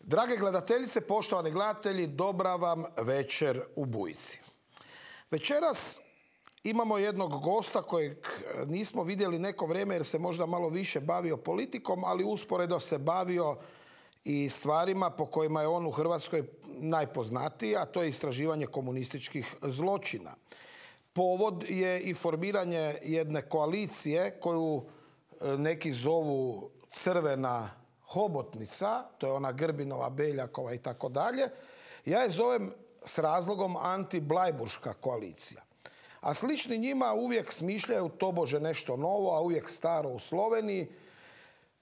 Drage gledateljice, poštovani gledatelji, dobra vam večer u Bujici. Večeras imamo jednog gosta kojeg nismo vidjeli neko vrijeme jer se možda malo više bavio politikom, ali usporedo se bavio i stvarima po kojima je on u Hrvatskoj najpoznatiji, a to je istraživanje komunističkih zločina. Povod je i formiranje jedne koalicije koju neki zovu Crvena hobotnica, to je ona Grbinova, Beljakova i tako dalje. Ja je zovem s razlogom anti-blajburška koalicija. A slični njima uvijek smišljaju tobože nešto novo, a uvijek staro u Sloveniji.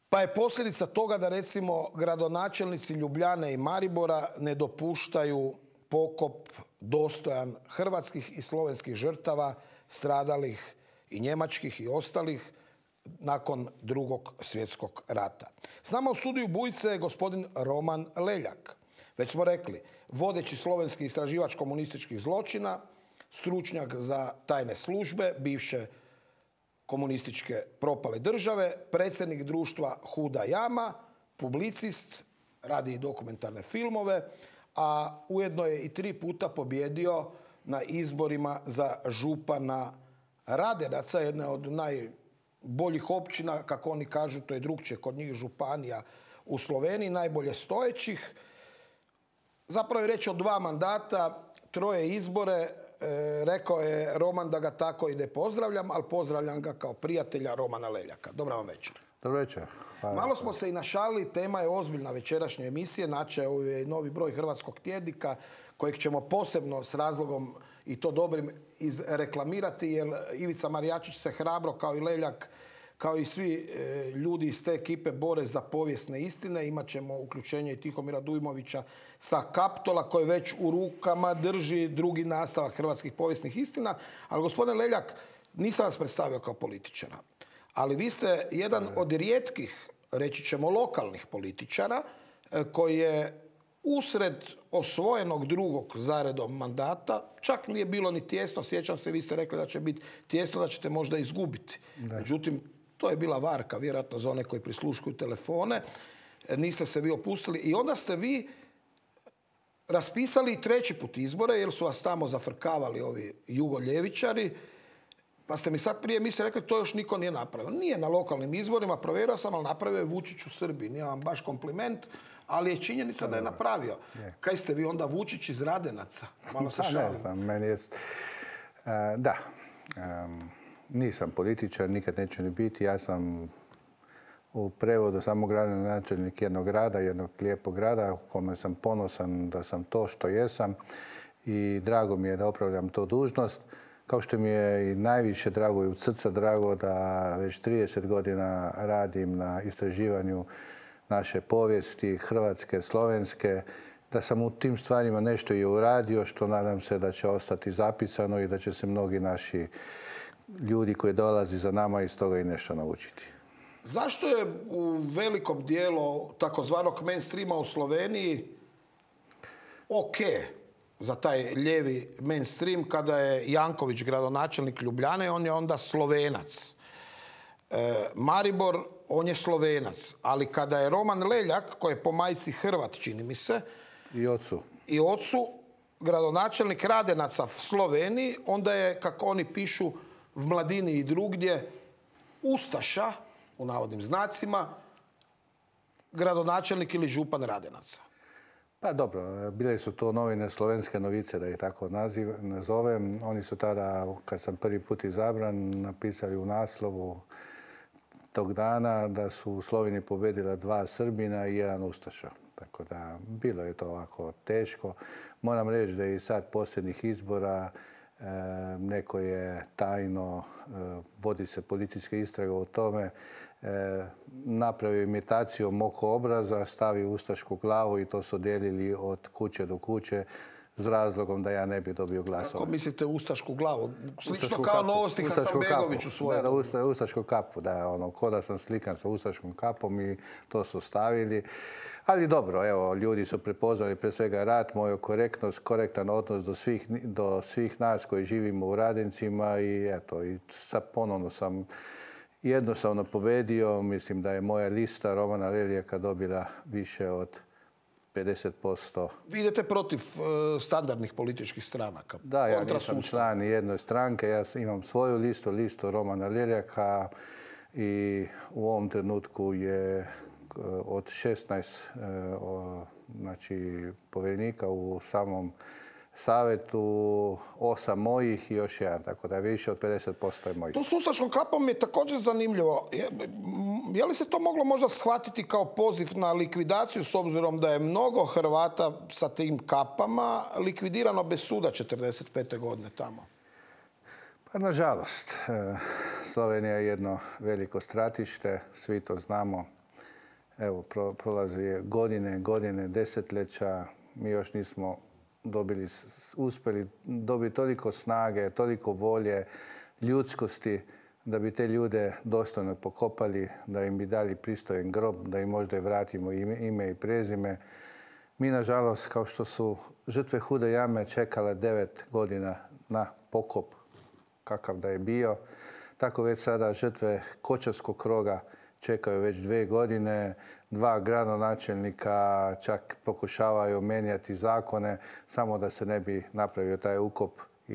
Pa je posljedica toga da recimo gradonačelnici Ljubljane i Maribora ne dopuštaju pokop dostojan hrvatskih i slovenskih žrtava stradalih i njemačkih i ostalih nakon Drugog svjetskog rata. S nama u studiju Bujice je gospodin Roman Leljak. Već smo rekli, vodeći slovenski istraživač komunističkih zločina, stručnjak za tajne službe, bivše komunističke propale države, predsjednik društva Huda Jama, publicist, radi i dokumentarne filmove, a ujedno je i 3 puta pobjedio na izborima za župana Radenaca, jedne od najboljih općina, kako oni kažu, to je drugčije kod njih županija u Sloveniji, najbolje stojećih. Zapravo je reč o 2 mandata, 3 izbore. Rekao je Roman da ga tako i ne pozdravljam, ali pozdravljam ga kao prijatelja Romana Leljaka. Dobra vam večer. Dobro večer. Malo smo se i našalili, tema je ozbiljna večerašnje emisije. Načeo je novi broj Hrvatskog tjednika kojeg ćemo posebno s razlogom i to dobrim izreklamirati, jer Ivica Marijačić se hrabro kao i Leljak, kao i svi ljudi iz te ekipe bore za povijesne istine. Imat ćemo uključenje i Tihomira Dujmovića sa Kaptola koji već u rukama drži drugi nastavak hrvatskih povijesnih istina. Ali gospodine Leljak, nisam vas predstavio kao političara, ali vi ste jedan od rijetkih, reći ćemo, lokalnih političara koji je usred osvojenog drugog zaredom mandata, čak nije bilo ni tijesno, sjećam se, vi ste rekli da će biti tijesno, da ćete možda izgubiti. Međutim, to je bila varka, vjerojatno za one koji prisluškuju telefone. Niste se vi opustili i onda ste vi raspisali i 3. put izbore, jer su vas tamo zafrkavali ovi jugoljevičari. Pa ste mi sad prije emisije rekli to još niko nije napravio. Nije na lokalnim izborima, provjerio sam, ali napravio je Vučić u Srbiji. Nije vam baš kompliment, ali je činjenica da je napravio. Kaj ste vi onda, Vučić iz Radenaca? Malo se šalim. Ne znam, meni je... Da, nisam političar, nikad neću ni biti. Ja sam u prevodu samo gradonačelnik jednog grada, jednog lijepog grada u kome sam ponosan da sam to što jesam i drago mi je da opravljam tu dužnost. Kao što mi je i najviše drago i od srca drago da već 30 godina radim na istraživanju naše povijesti, hrvatske, slovenske, da sam u tim stvarima nešto i uradio, što nadam se da će ostati zapisano i da će se mnogi naši ljudi koji dolazi za nama iz toga i nešto naučiti. Zašto je u velikom dijelu takozvanog mainstreama u Sloveniji ok za taj lijevi mainstream kada je Janković gradonačelnik Ljubljane, on je onda Slovenac. Maribor, on je Slovenac. Ali kada je Roman Leljak, koji je po majci Hrvat, čini mi se, i ocu gradonačelnik Radenaca u Sloveniji, onda je, kako oni pišu v Mladini i drugdje, ustaša, u navodnim znacima, gradonačelnik ili župan Radenaca. Pa dobro, bile su to novine Slovenske novice, da ih tako nazovem. Oni su tada, kad sam prvi put izabran, napisali u naslovu tog dana da su u Sloveniji pobjedila 2 Srbina i 1 ustaša. Tako da bilo je to ovako teško. Moram reći da je i sad posljednjih izbora neko je tajno, vodi se politička istraga o tome, napravio imitaciju oko obraza, stavio ustašku glavu i to su dijelili od kuće do kuće s razlogom da ja ne bi dobio glasova. Kako mislite ustašku glavu? Slično kao novosti Hasanbegović u svojom. Da, ustašku kapu, da, ono, ko da sam slikan sa ustaškom kapom i to su stavili. Ali dobro, evo, ljudi su prepoznali pre svega rat, moju korektnost, korektan odnos do svih nas koji živimo u Radencima i eto, i sad ponovno sam jednostavno pobedio. Mislim da je moja lista Romana Leljaka dobila više od 50%. Vi idete protiv standardnih političkih stranaka? Da, ja nisam član jedne stranke, ja imam svoju listu Romana Leljaka i u ovom trenutku je od 16 znači, povjerenika u samom savjetu, 8 mojih i još jedan, tako da je više od 50% je mojih. To s ustaškom kapom je također zanimljivo. Je li se to moglo možda shvatiti kao poziv na likvidaciju s obzirom da je mnogo Hrvata sa tim kapama likvidirano bez suda 45. godine tamo? Pa nažalost, Slovenija je jedno veliko stratište, svi to znamo. Evo, prolazi godine, desetljeća, mi još nismo uspjeli dobiti toliko snage, toliko volje, ljudskosti, da bi te ljude dostojno pokopali, da im bi dali pristojan grob, da im možda i vratimo ime i prezime. Mi, nažalost, kao što su žrtve Hude jame čekale 9 godina na pokop, kakav da je bio, tako već sada žrtve Kočarskog kroga čekaju već 2 godine, 2 gradonačelnika čak pokušavaju mijenjati zakone samo da se ne bi napravio taj ukop i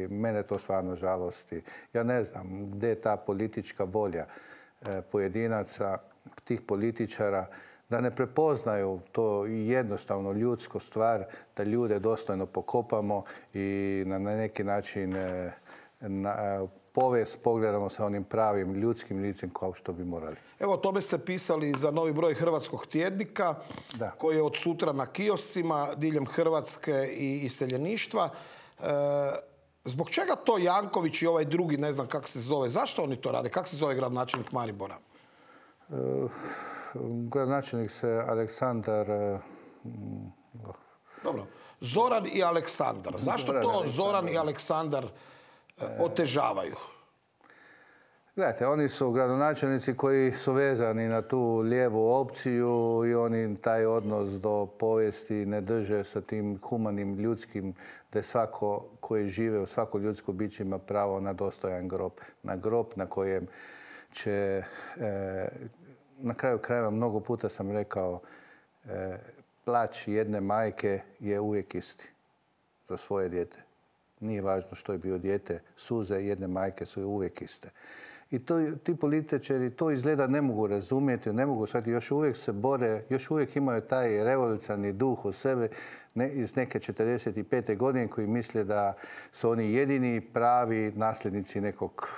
mene to stvarno žalosti. Ja ne znam gdje je ta politička volja pojedinaca, tih političara, da ne prepoznaju to jednostavno ljudsku stvar, da ljude dostojno pokopamo i na neki način povijest pogledamo sa onim pravim ljudskim licem kao što bi morali. Evo, o tome ste pisali za novi broj Hrvatskog tjednika, koji je od sutra na kioscima diljem Hrvatske i iseljeništva. Zbog čega to Janković i ovaj drugi, ne znam kako se zove, zašto oni to rade? Kako se zove gradonačelnik Maribora? Gradonačelnik se Aleksandar... Dobro. Zoran i Aleksandar. Zašto to Zoran i Aleksandar otežavaju? Gledajte, oni su gradonačelnici koji su vezani na tu lijevu opciju i oni taj odnos do povijesti ne drže sa tim humanim ljudskim, da je svako koji žive u svako ljudsko biće ima pravo na dostojan grob. Na grob na kojem će, na kraju krajeva mnogo puta sam rekao, plać jedne majke je uvijek isti za svoje dijete. Nije važno što je bio dijete, suze jedne majke su uvijek iste. I ti političari to izgleda ne mogu razumjeti, ne mogu shvatiti, još uvijek se bore, još uvijek imaju taj revolucionarni duh u sebe iz neke 45. godine koji misle da su oni jedini pravi nasljednici nekog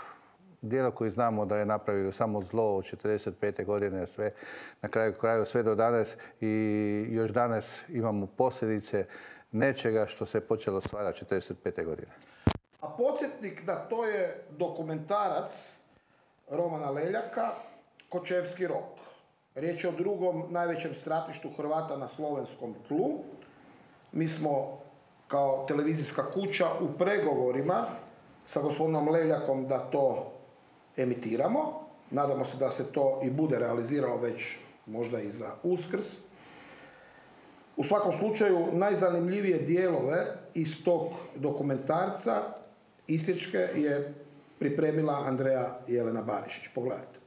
dijela koji znamo da je napravio samo zlo od 45. godine sve, na kraju sve do danas i još danas imamo posljedice nečega što se je počelo stvarati 45. godine. A podsjetnik da to je dokumentarac Romana Leljaka, Kočevski rog. Riječ je o drugom najvećem stratištu Hrvata na slovenskom tlu. Mi smo kao televizijska kuća u pregovorima sa gospodinom Leljakom da to emitiramo. Nadamo se da se to i bude realiziralo već možda i za Uskrs. U svakom slučaju, najzanimljivije dijelove iz tog dokumentarca isječke je pripremila Andreja Jelena Barišić. Pogledajte.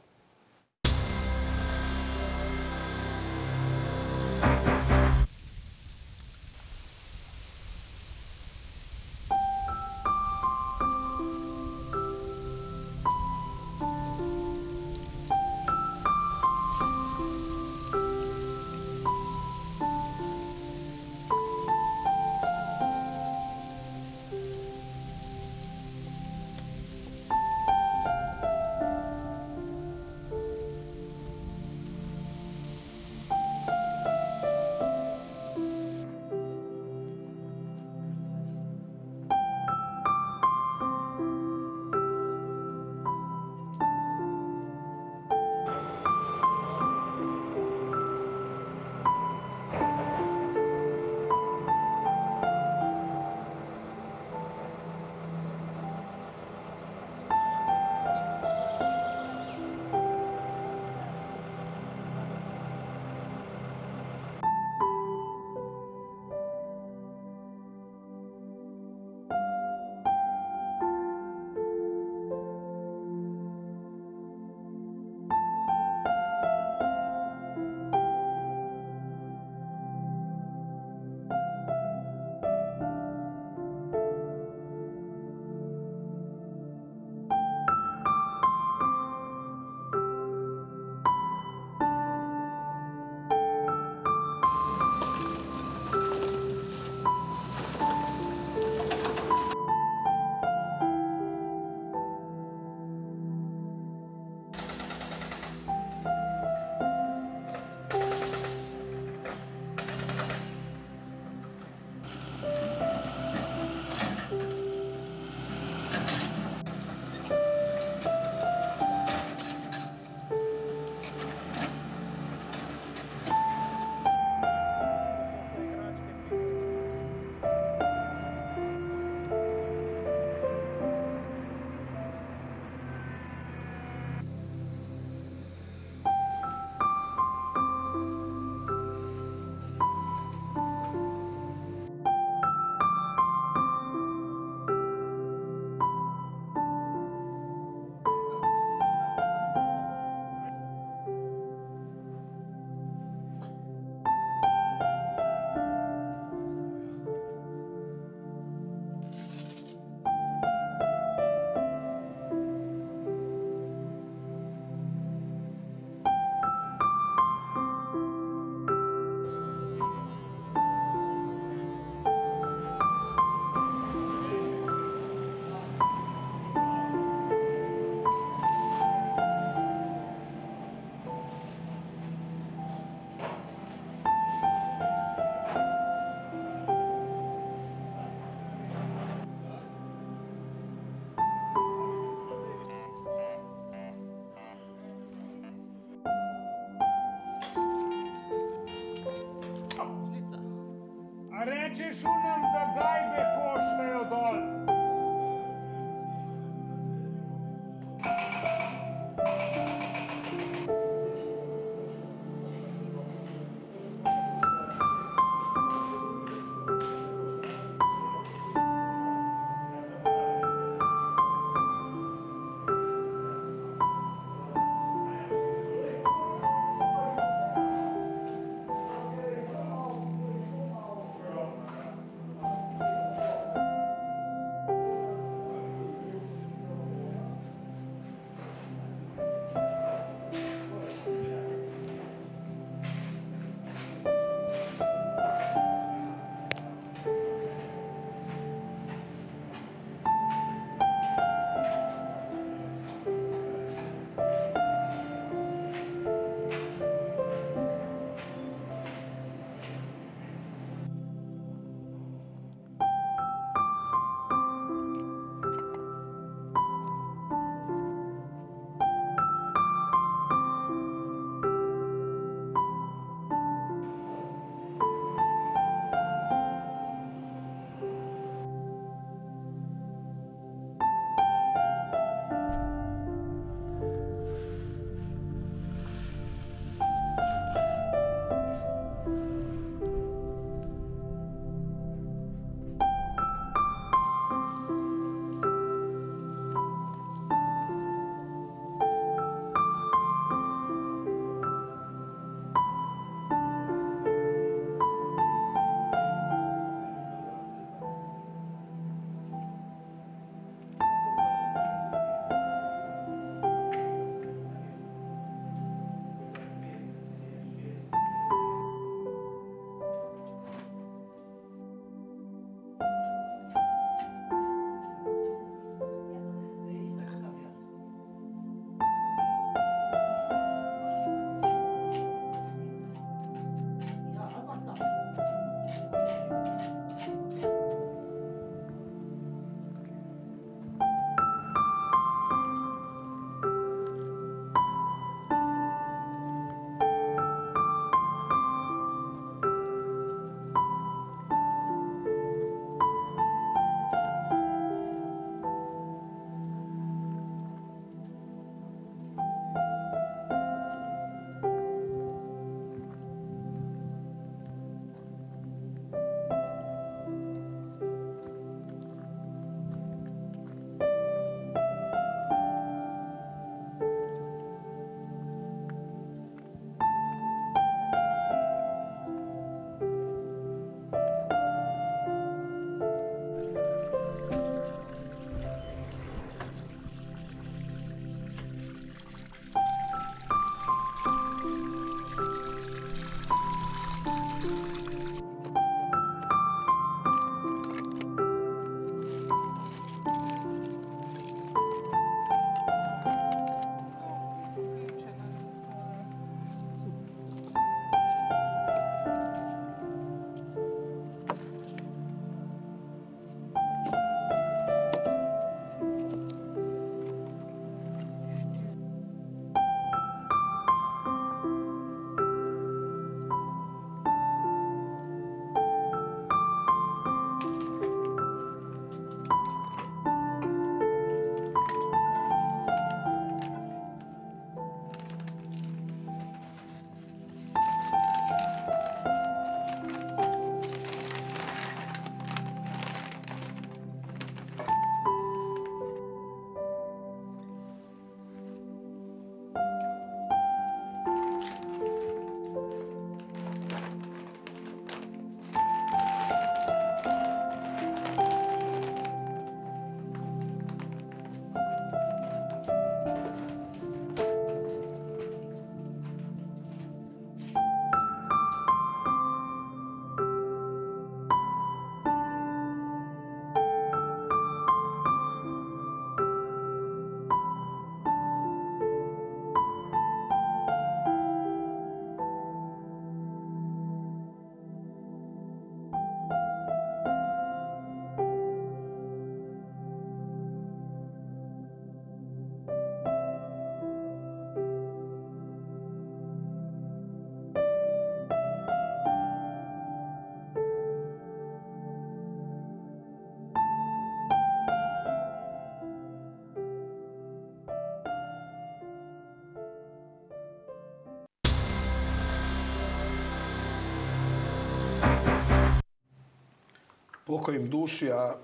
Pokoj im duši, a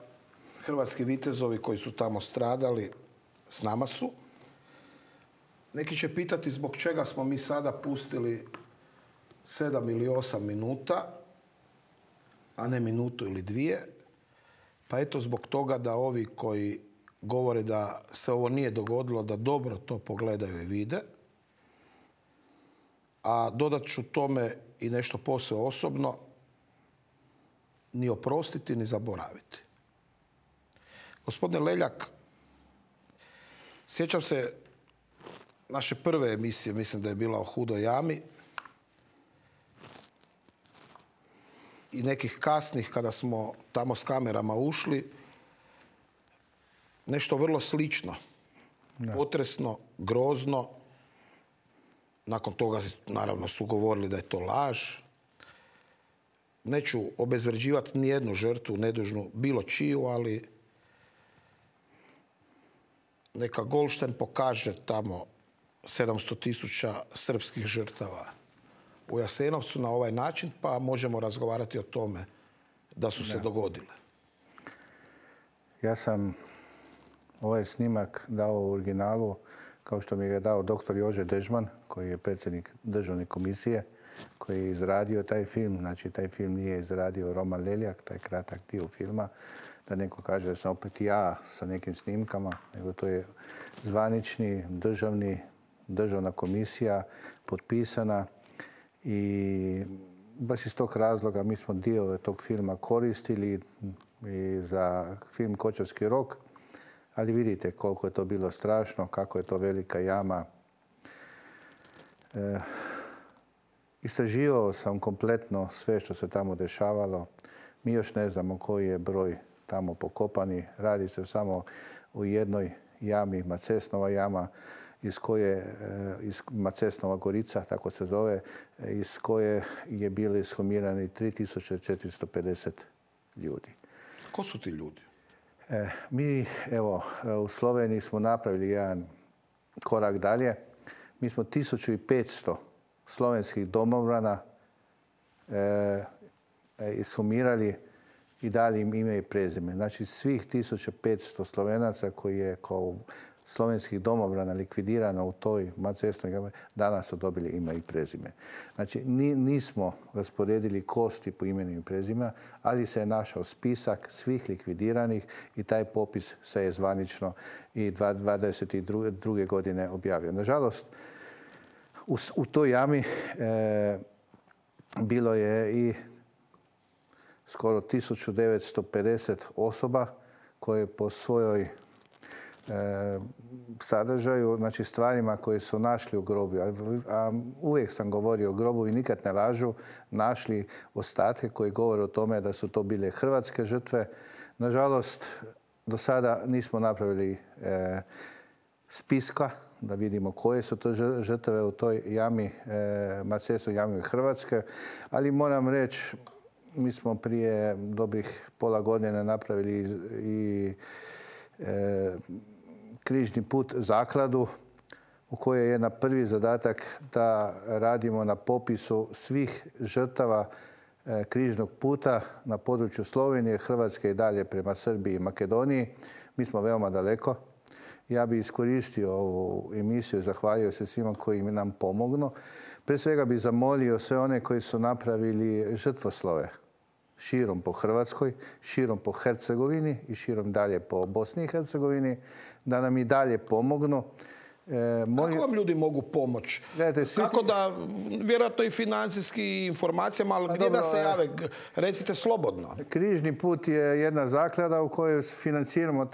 hrvatski vitezovi koji su tamo stradali s nama su. Neki će pitati zbog čega smo mi sada pustili 7 ili 8 minuta, a ne minutu ili dvije. Pa eto zbog toga da ovi koji govore da se ovo nije dogodilo, da dobro to pogledaju i vide. A dodat ću tome i nešto posve osobno, ni oprostiti, ni zaboraviti. Gospodine Leljak, sjećam se naše prve emisije, mislim da je bila o Hudoj jami, i nekih kasnih kada smo tamo s kamerama ušli, nešto vrlo slično, potresno, grozno. Nakon toga naravno su govorili da je to laž. Neću obezvrđivati nijednu žrtvu nedužnu, bilo čiju, ali neka Goldstein pokaže tamo 700.000 srpskih žrtava u Jasenovcu na ovaj način, pa možemo razgovarati o tome da su se dogodile. Ja sam ovaj snimak dao u originalu, kao što mi ga je dao dr. Jože Dežman, koji je predsjednik državne komisije, koji je izradio taj film. Znači, taj film nije izradio Roman Leljak, taj kratak dio filma, da neko kaže da sam opet ja sa nekim snimkama, nego to je zvanični državna komisija potpisana i baš iz tog razloga mi smo dio tog filma koristili i za film Kočevski rok, ali vidite koliko je to bilo strašno, kako je to velika jama. Istraživao sam kompletno sve što se tamo dešavalo. Mi još ne znamo koji je broj tamo pokopani. Radi se samo o jednoj jami, Macesnova jama, iz koje, Macesnova Gorica, tako se zove, iz koje je bili ishumirani 3450 ljudi. Ko su ti ljudi? Mi, evo, u Sloveniji smo napravili jedan korak dalje. Mi smo 1500 slovenskih domobrana ishumirali i dali im ime i prezime. Znači, svih 1500 Slovenaca koji je kao slovenskih domobrana likvidirano u toj Macesnoj jami, danas su dobili ime i prezime. Znači, nismo rasporedili kosti po imenu i prezima, ali se je našao spisak svih likvidiranih i taj popis se je zvanično i 2022. godine objavio. Nažalost, u toj jami bilo je i skoro 1950 osoba koje po svojoj sadržaju, znači stvarima koje su našli u grobu. A uvijek sam govorio o grobu i nikad ne lažu, našli ostatke koji govore o tome da su to bile hrvatske žrtve. Nažalost, do sada nismo napravili spiska da vidimo koje su to žrtve u toj jami, Macesnoj jami Hrvatske, ali moram reći, mi smo prije dobrih pola godine napravili i križni put zakladu u kojoj je na prvi zadatak da radimo na popisu svih žrtava križnog puta na području Slovenije, Hrvatske i dalje prema Srbiji i Makedoniji. Mi smo veoma daleko. Ja bih iskoristio ovu emisiju i zahvalio se svima koji nam pomognu. Pre svega bih zamolio sve one koji su napravili žrtvoslove širom po Hrvatskoj, širom po Hercegovini i širom dalje po Bosni i Hercegovini, da nam i dalje pomognu. Kako vam ljudi mogu pomoći? Kako da, vjerojatno i financijski informacijama, ali gdje da se jave? Recite slobodno. Križni put je jedna zaklada u kojoj financiramo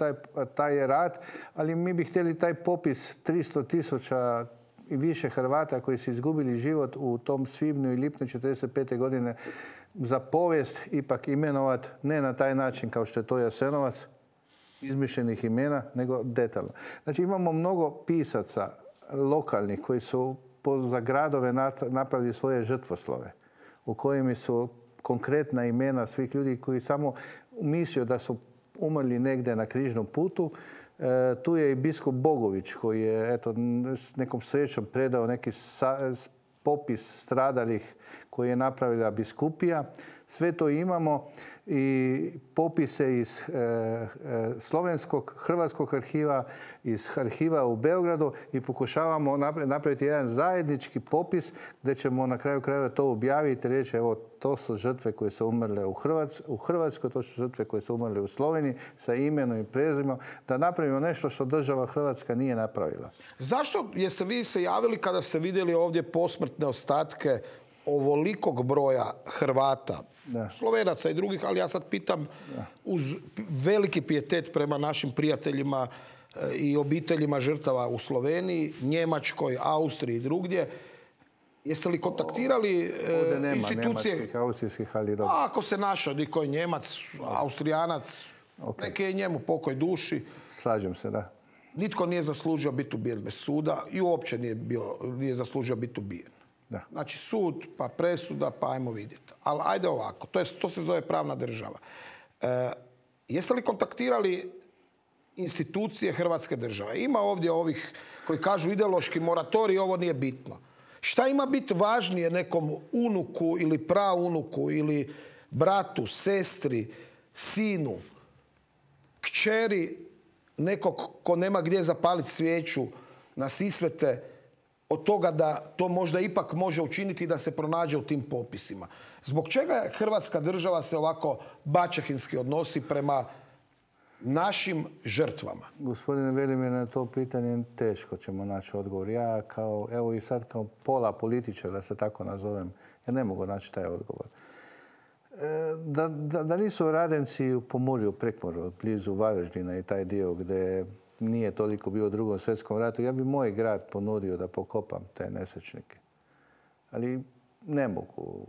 taj rad, ali mi bi htjeli taj popis 300.000 i više Hrvata koji su izgubili život u tom svibnju i lipnju 1945. godine za povijest ipak imenovat, ne na taj način kao što je to Jasenovac, izmišljenih imena, nego detaljno. Znači imamo mnogo pisaca lokalnih koji su za gradove napravili svoje žrtvoslove u kojima su konkretna imena svih ljudi koji samo mislio da su umrli negdje na križnom putu. Tu je i biskup Bogović koji je s nekom srećom predao neki popis stradalih koji je napravila biskupija Sve to imamo i popise iz slovenskog, hrvatskog arhiva, iz arhiva u Beogradu i pokušavamo napraviti jedan zajednički popis gdje ćemo na kraju krajeva to objaviti i reći evo to su žrtve koje su umrle u Hrvatskoj, to su žrtve koje su umrle u Sloveniji sa imenom i prezimenom, da napravimo nešto što država Hrvatska nije napravila. Zašto jeste vi se javili kada ste vidjeli ovdje posmrtne ostatke ovolikog broja Hrvata, Slovenaca i drugih, ali ja sad pitam uz veliki pijetet prema našim prijateljima i obiteljima žrtava u Sloveniji, Njemačkoj, Austriji i drugdje. Jeste li kontaktirali institucije? Njemačkih, austrijskih, ali dobro. Ako se našao niko je Njemac, Austrijanac, neki je njemu pokoj duši. Slažem se, da. Nitko nije zaslužio biti ubijen bez suda i uopće nije zaslužio biti ubijen. Da. Znači sud, pa presuda, pa ajmo vidjeti. Ali ajde ovako, to se zove pravna država. Jeste li kontaktirali institucije Hrvatske države? Ima ovdje ovih koji kažu ideološki moratorij, ovo nije bitno. Šta ima biti važnije nekom unuku ili praunuku ili bratu, sestri, sinu, kćeri, nekog ko nema gdje zapaliti svijeću na Sisvete, od toga da to možda ipak može učiniti da se pronađe u tim popisima. Zbog čega Hrvatska država se ovako baćehinski odnosi prema našim žrtvama? Gospodine Velimir, na to pitanje teško ćemo naći odgovor. Ja evo i sad kao pola političara, da se tako nazovem, ja ne mogu naći taj odgovor. Da nisu Radenci u Pomurju, Prekmurju, blizu Varaždina i taj dio gdje nije toliko bio u Drugom svjetskom ratu, ja bi moj grad ponudio da pokopam te nesrećnike. Ali ne mogu. U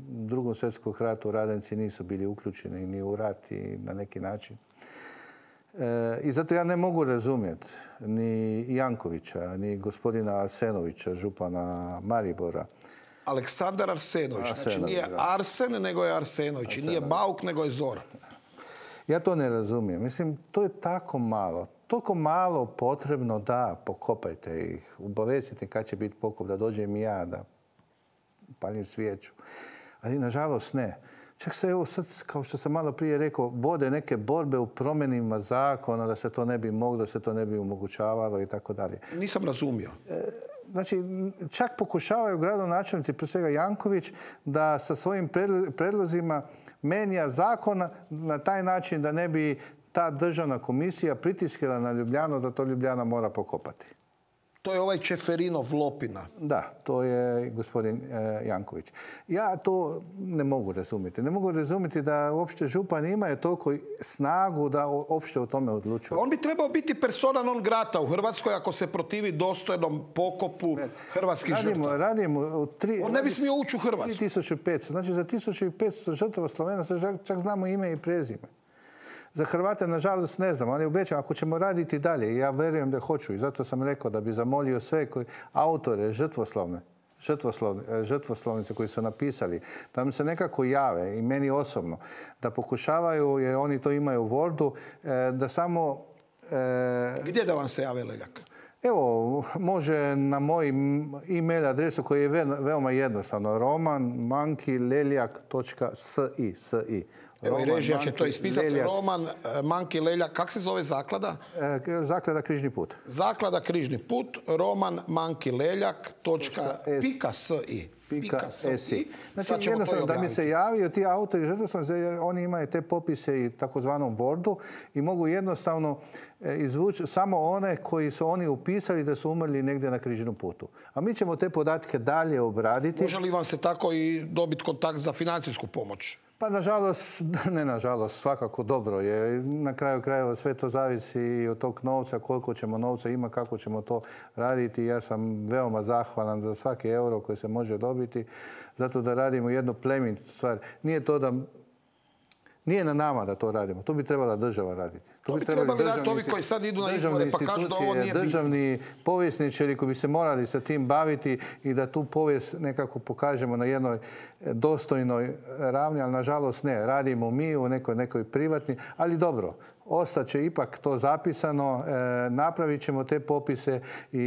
Drugom svjetskom ratu Radenci nisu bili uključeni ni u rat i na neki način. I zato ja ne mogu razumjeti ni Jankovića, ni gospodina Arsenovića, župana Maribora. Aleksandar Arsenović. Znači nije Arsen, nego je Arsenović. I nije Bauk, nego je Zoran. Ja to ne razumijem. Mislim, to je tako malo. Toliko malo potrebno da pokopajte ih. Obavestite kad će biti pokop, da dođem i ja, da palim svijeću. Ali, nažalost, ne. Čak se, evo sad, kao što sam malo prije rekao, vode neke borbe u promjenima zakona, da se to ne bi moglo, da se to ne bi omogućavalo i tako dalje. Nisam razumio. Znači, čak pokušavaju gradonačelnici, prije svega Janković, da sa svojim predlozima menja zakona na taj način da ne bi ta državna komisija pritiskala na Ljubljanu da to Ljubljana mora pokopati. To je ovaj Čeferinov Lopina. Da, to je gospodin Janković. Ja to ne mogu razumjeti. Ne mogu razumjeti da uopšte župan imaju toliko snagu da uopšte o tome odlučuje. On bi trebao biti persona non grata u Hrvatskoj ako se protivi dostojnom pokopu hrvatskih žrtava. On ne bi smio ući u Hrvatsku. 3500. Znači za 1500 žrtava Slovenaca čak znamo ime i prezime. Za Hrvate, nažalost, ne znam, ali obećam, ako ćemo raditi dalje, ja vjerujem da hoću i zato sam rekao da bi zamolio sve autore žrtvoslovnice koji su napisali, da mi se nekako jave i meni osobno, da pokušavaju, jer oni to imaju u Wordu, da samo... Gdje da vam se jave, Leljak? Evo, može na moj e-mail adresu koji je veoma jednostavno, roman@leljak.si. Evo i režija će to ispisati. Roman Manki Leljak. Kako se zove zaklada? Zaklada Križni put. Zaklada Križni put. Roman Manki Leljak.si. Znači, jednostavno da mi se javio ti autori žrtvoslovnice, oni imaju te popise i takozvanom Wordu i mogu jednostavno izvući samo one koji su oni upisali da su umrli negdje na Križnom putu. A mi ćemo te podatke dalje obraditi. Može li vam se tako i dobiti kontakt za financijsku pomoć? Pa nažalost, ne nažalost, svakako dobro je. Na kraju krajeva sve to zavisi i od tog novca, koliko ćemo novca ima, kako ćemo to raditi. Ja sam veoma zahvalan za svaki euro koji se može dobiti, zato da radimo jednu plemenitu stvar. Nije na nama da to radimo. To bi trebala država raditi. To bi trebali raditi ovi koji sad idu na izbore pa kažu da ovo nije bitno. Državni povjesničari koji bi se morali sa tim baviti i da tu povijest nekako pokažemo na jednoj dostojnoj ravni, ali nažalost ne. Radimo mi u nekoj privatni, ali dobro. Ostaće ipak to zapisano, napravit ćemo te popise i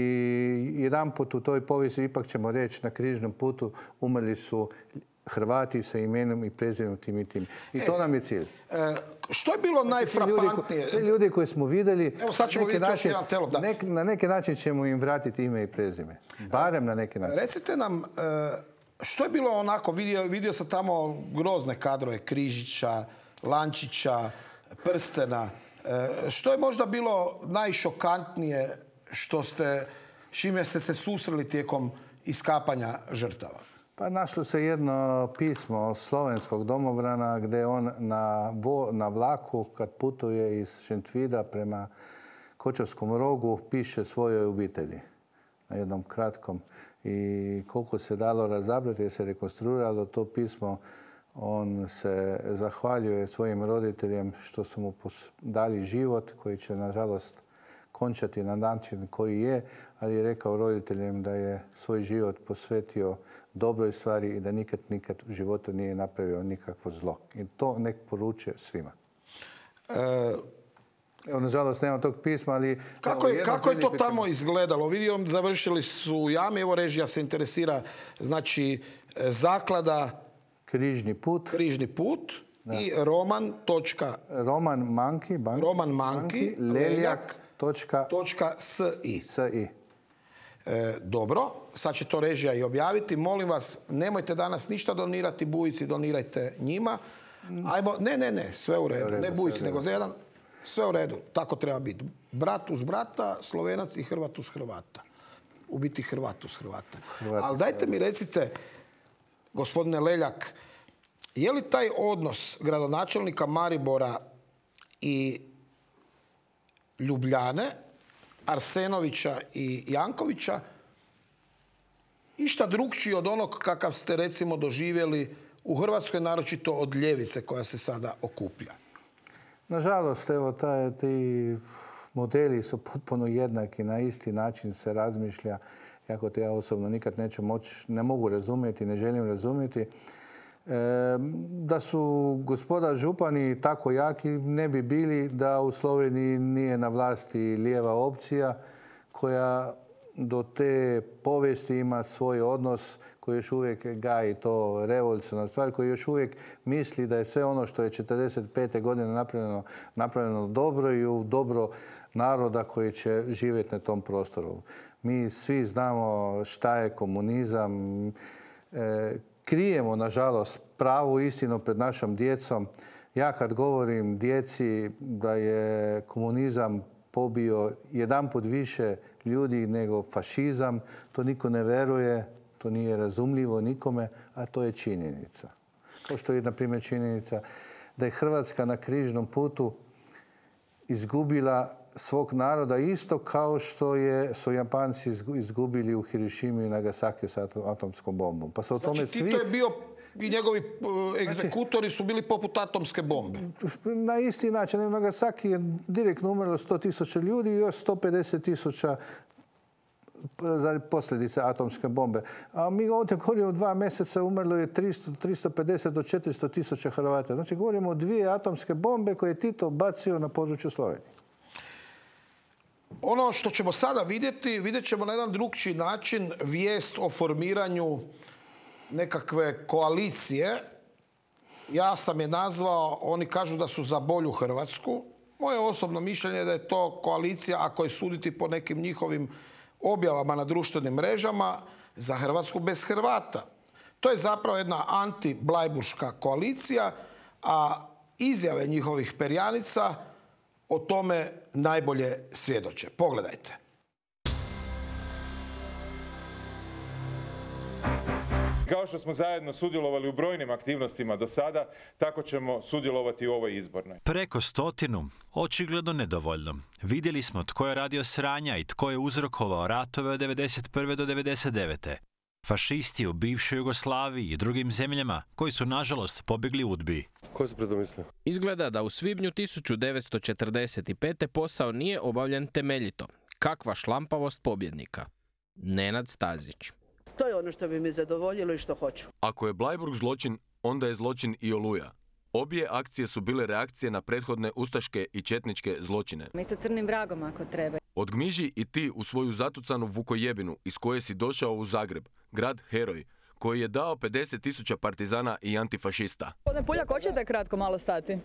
jedan put u toj povijesti ipak ćemo reći na Križnom putu umrli su Hrvati sa imenom i prezimenom tim i tim. I to nam je cilj. Što je bilo najfrapantnije? Te ljudi koje smo vidjeli, Evo sad ćemo vidjeti još jedan telop. Na neki način ćemo im vratiti ime i prezime. Barem na neki način. Recite nam, što je bilo onako, vidio sam tamo grozne kadrove, Križića, Lančića, Prstena. Što je možda bilo najšokantnije s čime ste se susreli tijekom iskapanja žrtava? Pa našlo se jedno pismo slovenskog domobrana gdje on na vlaku kad putuje iz Šentvida prema Kočevskom rogu piše svojoj obitelji na jednom kratkom. I koliko se dalo razabrati jer se rekonstruiralo to pismo, on se zahvaljuje svojim roditeljem što su mu dali život koji će nažalost končati na način koji je, ali je rekao roditeljem da je svoj život posvetio dobroj stvari i da nikad u životu nije napravio nikakvo zlo. I to nek poručuje svima. Evo, nažalost, nema tog pisma, ali... Kako je to tamo izgledalo? Vidim, završili su u jami, evo režija se interesira, znači, zaklada... Križni put i roman.manki leljak.si. Dobro, sad će to režija i objaviti. Molim vas, nemojte danas ništa donirati Bujici, donirajte njima. Ajmo, ne, sve u redu. Ne Bujici, nego za jedan. Sve u redu, tako treba biti. Brat uz brata, Slovenac i Hrvat uz Hrvata. U biti Hrvat uz Hrvata. Ali dajte mi recite, gospodine Leljak, je li taj odnos gradonačelnika Maribora i Ljubljane, Arsenovića i Jankovića išta drukčiji od onog kakav ste recimo doživjeli u Hrvatskoj, naročito od ljevice koja se sada okuplja? Nažalost, evo, ti modeli su potpuno jednaki, na isti način se razmišlja, jako to ja osobno nikad ne mogu razumjeti, ne želim razumjeti. Da su gospoda župani tako jaki ne bi bili da u Sloveniji nije na vlasti lijeva opcija koja do te povijesti ima svoj odnos koji još uvijek gaji to revolucionarnu stvar, koji još uvijek misli da je sve ono što je 1945. godine napravljeno dobro i u dobro naroda koji će živjeti na tom prostoru. Mi svi znamo šta je komunizam. Krijemo, nažalost, pravu istinu pred našom djecom. Ja kad govorim djeci da je komunizam pobio jedanput više ljudi nego fašizam, to niko ne veruje, to nije razumljivo nikome, a to je činjenica. Kao što je, na primjer, činjenica da je Hrvatska na križnom putu izgubila svog naroda isto kao što su Japanci izgubili u Hirošimi i Nagasakiju sa atomskom bombom. Pa znači, Tito je bio i njegovi egzekutori su bili poput atomske bombe. Na isti način. U Nagasaki je direktno umrlo 100.000 ljudi i još 150.000 za posljedice atomske bombe. A mi ovdje govorimo o 2 mjeseca umrlo je 350 do 400.000 Hrvata. Znači govorimo o 2 atomske bombe koje je Tito bacio na području Slovenije. Ono što ćemo sada vidjet ćemo na jedan drugčiji način vijest o formiranju nekakve koalicije. Ja sam je nazvao, oni kažu da su za bolju Hrvatsku. Moje osobno mišljenje je da je to koalicija, ako je suditi po nekim njihovim objavama na društvenim mrežama, za Hrvatsku bez Hrvata. To je zapravo jedna anti-blajburška koalicija, a izjave njihovih perjanica o tome najbolje svjedoče. Pogledajte. Kao što smo zajedno sudjelovali u brojnim aktivnostima do sada, tako ćemo sudjelovati u ovoj izbornoj. Preko 100, očigledno nedovoljno. Vidjeli smo tko je radio sranja i tko je uzrokovao ratove od 1991. do 1999. Fašisti u bivšoj Jugoslaviji i drugim zemljama koji su, nažalost, pobjegli UDBI. Ko se predomislio? Izgleda da u svibnju 1945. posao nije obavljen temeljito. Kakva šlampavost pobjednika. Nenad Stazić. To je ono što bi mi zadovoljilo i što hoću. Ako je Bleiburg zločin, onda je zločin i Oluja. Obje akcije su bile reakcije na prethodne ustaške i četničke zločine. Mi ste crnim vragom ako treba. Odgmiži i ti u svoju zatucanu Vukojebinu iz koje si došao u Zagreb, grad heroj, koji je dao 50.000 partizana i antifašista. Gospodine Puljak, hoćete kratko malo stati?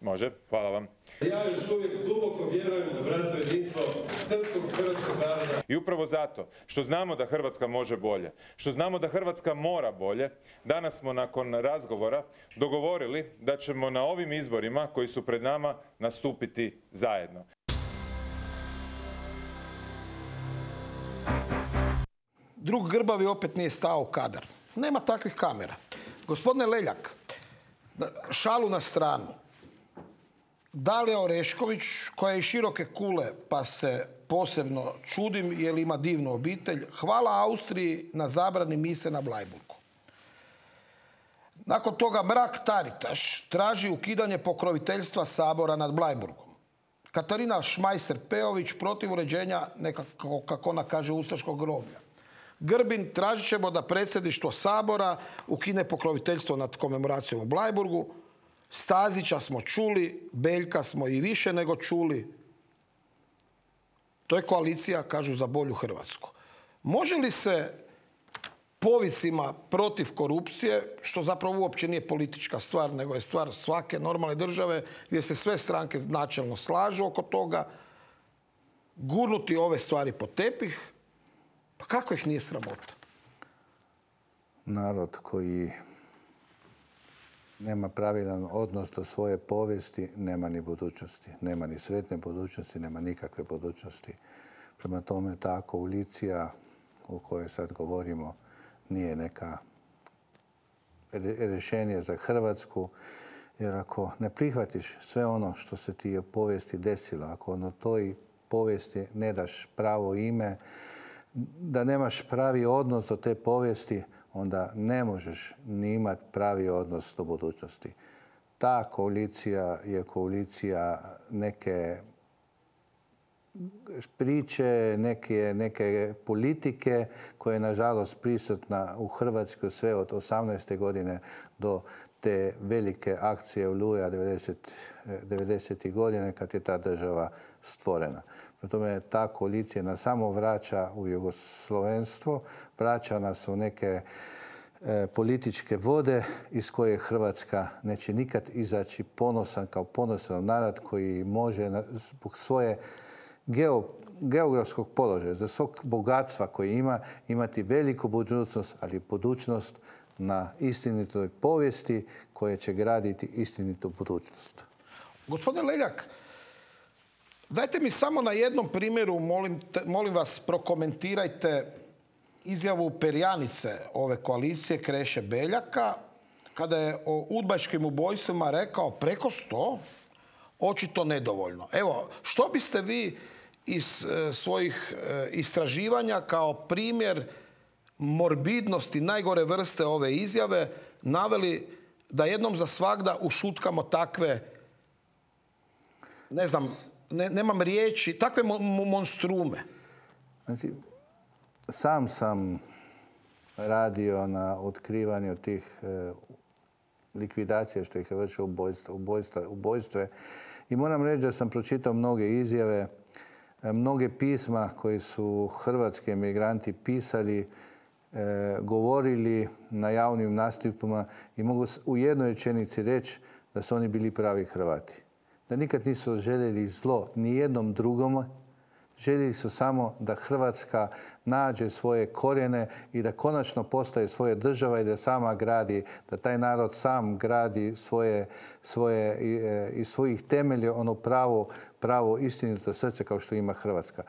Može, hvala vam. Ja još uvijek duboko vjerujem u bratstvo i jedinstvo srpskog hrvatskog naroda. I upravo zato što znamo da Hrvatska može bolje, što znamo da Hrvatska mora bolje, danas smo nakon razgovora dogovorili da ćemo na ovim izborima koji su pred nama nastupiti zajedno. Drug Grbavi opet nije stao u kadar. Nema takvih kamera. Gospodine Leljak, šalu na stranu. Dalija Orešković, koja je iz široke kule, pa se posebno čudim jer ima divnu obitelj, hvala Austriji na zabrani mise na Blajburgu. Nakon toga Mrak-Taritaš traži ukidanje pokroviteljstva Sabora nad Blajburgom. Katarina Šmajser-Pejović protiv uređenja nekako, kako ona kaže, ustaškog groblja. Grbin, tražit ćemo da predsjedništvo Sabora ukine pokroviteljstvo nad komemoracijom u Blajburgu. Stazića smo čuli, Beljka smo i više nego čuli. To je koalicija, kažu, za bolju Hrvatsku. Može li se povicima protiv korupcije, što zapravo uopće nije politička stvar, nego je stvar svake normalne države, gdje se sve stranke načelno slažu oko toga, gurnuti ove stvari pod tepih, pa kako ih nije sramota? Narod koji nema pravilan odnos do svoje povijesti, nema ni budućnosti. Nema ni sretne budućnosti, nema nikakve budućnosti. Prema tome, ta koalicija o kojoj sad govorimo nije neka rješenje za Hrvatsku. Jer ako ne prihvatiš sve ono što se ti u povijesti desilo, ako na toj povijesti ne daš pravo ime, da nemaš pravi odnos do te povijesti, onda ne možeš ni imati pravi odnos do budućnosti. Ta koalicija je koalicija neke priče, neke politike koja je nažalost prisutna u Hrvatskoj sve od 18. godine do te velike akcije Oluja 90. godine kad je ta država stvorena. Prema tome, ta koalicija nas samo vraća u jugoslovenstvo, vraća nas u neke političke vode iz koje Hrvatska neće nikad izaći ponosan kao ponosan narod koji može zbog svoje geografskog položaja, za svog bogatstva koje ima, imati veliku budućnost, ali budućnost na istinitoj povijesti koje će graditi istinitu budućnost. Gospodine Leljak, dajte mi samo na jednom primjeru, molim vas, prokomentirajte izjavu perjanice ove koalicije Kreše Beljaka, kada je o udbaškim ubojstvima rekao preko 100, očito nedovoljno. Evo, što biste vi iz svojih istraživanja kao primjer morbidnosti najgore vrste ove izjave naveli da jednom za svagda ušutkamo takve, ne znam, nemam riječi, takve monstrume? Znači, sam sam radio na otkrivanju tih likvidacija što ih je vršilo ubojstve. I moram reći da sam pročitao mnoge izjave, mnoge pisma koji su hrvatski emigranti pisali, govorili na javnim nastupima i mogu u jednoj rečenici reći da su oni bili pravi Hrvati. Da nikad nisu željeli zlo ni jednom drugom, željeli su samo da Hrvatska nađe svoje korijene i da konačno postaje svoja država i da sama gradi, da taj narod sam gradi iz svojih temelja ono pravo istinito srce kao što ima Hrvatska.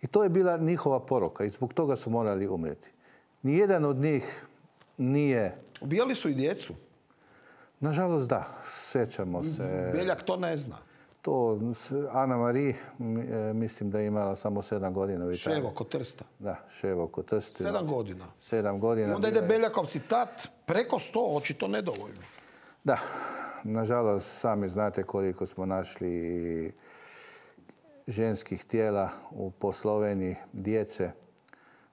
I to je bila njihova poruka i zbog toga su morali umrijeti. Nijedan od njih nije... Ubijali su i djecu? Nažalost da, sjećamo se... Beljak to ne zna. To, Ana Marie, mislim da je imala samo 7 godina u Italiji. Ševo kod Trsta. Da, Ševo kod Trsta. 7 godina. 7 godina. I onda ide Beljakov citat, preko 100, očito nedovoljno. Da, nažalost, sami znate koliko smo našli ženskih tijela po Sloveniji, djece,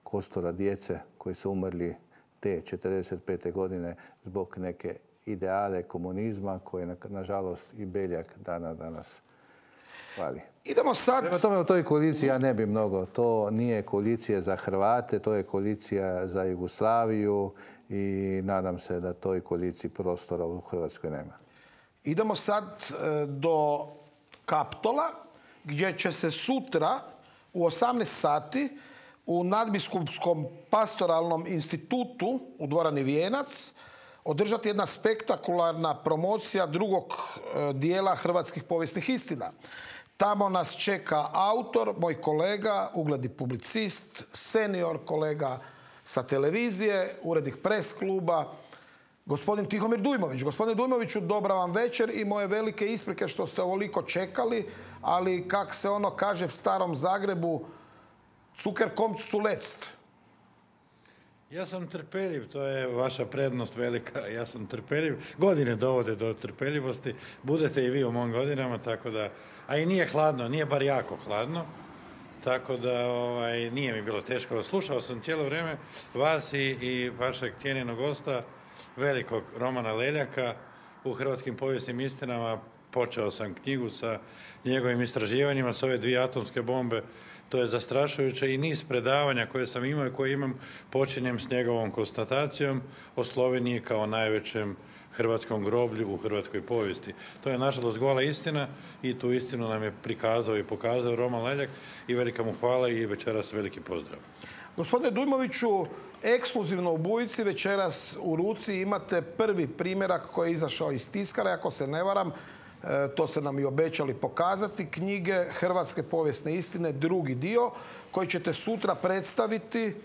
kostura djece koji su umrli te 45. godine zbog neke ideale komunizma koje, nažalost, i Beljak danas Hvali. Idemo sad... Prema tome u toj koaliciji ja ne bi mnogo. To nije koalicija za Hrvate, to je koalicija za Jugoslaviju i nadam se da toj koaliciji prostora u Hrvatskoj nema. Idemo sad do Kaptola, gdje će se sutra u 18 sati u Nadbiskupskom pastoralnom institutu u dvorani Vijenac održati jedna spektakularna promocija drugog dijela hrvatskih povijesnih istina. Tamo nas čeka autor, moj kolega, ugledni publicist, senior kolega sa televizije, urednik Press kluba, gospodin Tihomir Dujmović. Gospodine Dujmoviću, dobra vam večer i moje velike isprike što ste ovoliko čekali, ali kak se ono kaže v starom Zagrebu, Zucker kommt zuletzt. Ja sam trpeljiv, to je vaša prednost velika. Ja sam trpeljiv. Godine dovode do trpeljivosti. Budete i vi u mojim godinama, tako da... A i nije hladno, nije bar jako hladno. Tako da nije mi bilo teško. Slušao sam cijelo vrijeme vas i vašeg cijenjenog gosta, velikog Romana Leljaka, u Hrvatskim povijesnim istinama. Počeo sam knjigu sa njegovim istraživanjima, sa ove 2 atomske bombe. To je zastrašujuće i niz predavanja koje sam imao i koje imam počinjem s njegovom konstatacijom o Sloveniji kao najvećem hrvatskom groblju u hrvatskoj povijesti. To je nažalost gola istina i tu istinu nam je prikazao i pokazao Roman Leljak i velika mu hvala i večeras veliki pozdrav. Gospodine Dujmoviću, ekskluzivno u Bujici večeras u ruci imate prvi primjerak koji je izašao iz tiskara, ako se ne varam. To ste nam i obećali pokazati, knjige Hrvatske povijesne istine, drugi dio, koji ćete sutra predstaviti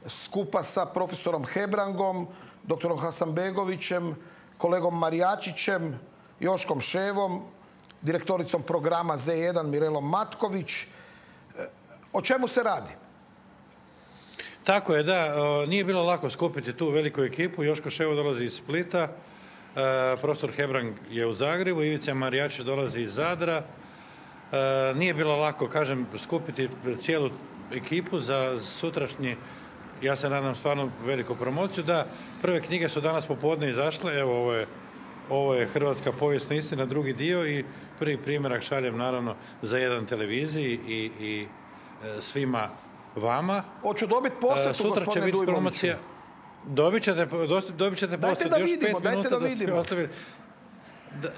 skupa sa profesorom Hebrangom, doktorom Hasanbegovićem, kolegom Marijačićem, Joškom Ševom, direktoricom programa Z1 Mirelom Matković. O čemu se radi? Tako je, da. Nije bilo lako skupiti tu veliku ekipu. Joško Ševo dolazi iz Splita, profesor Hebrang je u Zagrebu, Ivica Marijačić dolazi iz Zadra. Nije bilo lako, kažem, skupiti cijelu ekipu za sutrašnji, ja se nadam, stvarno veliku promociju. Da, prve knjige su danas popodne izašle, evo ovo je Hrvatska povijesna istina, drugi dio i prvi primjerak šaljem naravno za jedan televiziji i svima vama. Hoću dobiti posvetu, gospodine Dujmoviću. Dobit ćete posvetu. Dajte da vidimo.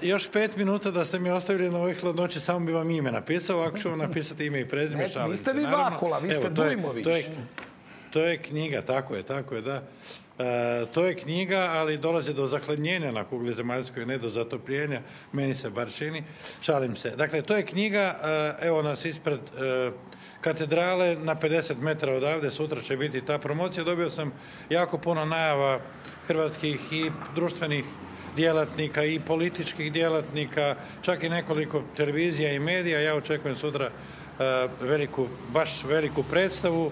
Još 5 minuta da ste mi ostavili na ovoj hladnoći, samo bi vam ime napisao, ako ću vam napisati ime i prezime, šalim se. Niste vi Vakula, vi ste Dujmović. To je knjiga, tako je, da. To je knjiga, ali dolazi do zahladnjenja na kugli zemaljskoj, ne do zatopljenja, meni se bar čini. Šalim se. Dakle, to je knjiga, evo nas ispred katedrale, na 50 metara odavde, sutra će biti ta promocija. Dobio sam jako puno najava hrvatskih i društvenih djelatnika i političkih djelatnika, čak i nekoliko televizija i medija. Ja očekujem sutra baš veliku predstavu.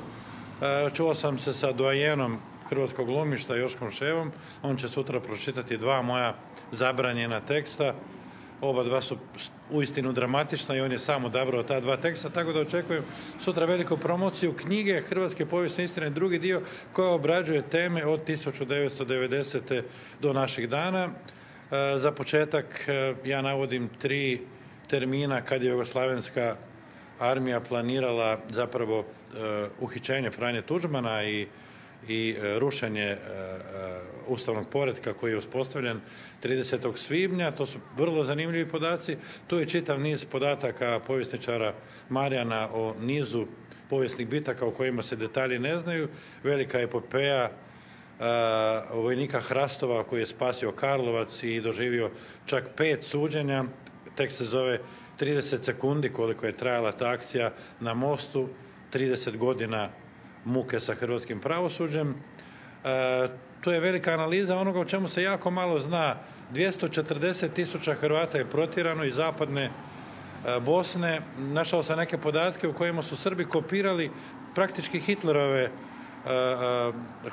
Čuo sam se sa doajenom hrvatskog glumišta Joškom Ševom. On će sutra pročitati 2 moja zabranjena teksta. Oba dva su uistinu dramatična i on je sam odabrao ta 2 teksta, tako da očekujem sutra veliku promociju knjige Hrvatske povijesne istine, drugi dio, koja obrađuje teme od 1990. do naših dana. Za početak ja navodim 3 termina kad je jugoslavenska armija planirala zapravo uhićenje Franje Tuđmana i rušenje ustavnog poretka koji je uspostavljen 30. svibnja. To su vrlo zanimljivi podaci. Tu je čitav niz podataka povjesničara Marijana o nizu povijesnih bitaka o kojima se detalji ne znaju. Velika epopeja vojnika Hrastova koji je spasio Karlovac i doživio čak 5 suđenja. Tekst se zove 30 sekundi koliko je trajala ta akcija na mostu, 30 godina muke sa hrvatskim pravosuđem. To je velika analiza onoga o čemu se jako malo zna. 240.000 Hrvata je protjerano iz zapadne Bosne. Našao sam neke podatke u kojima su Srbi kopirali praktički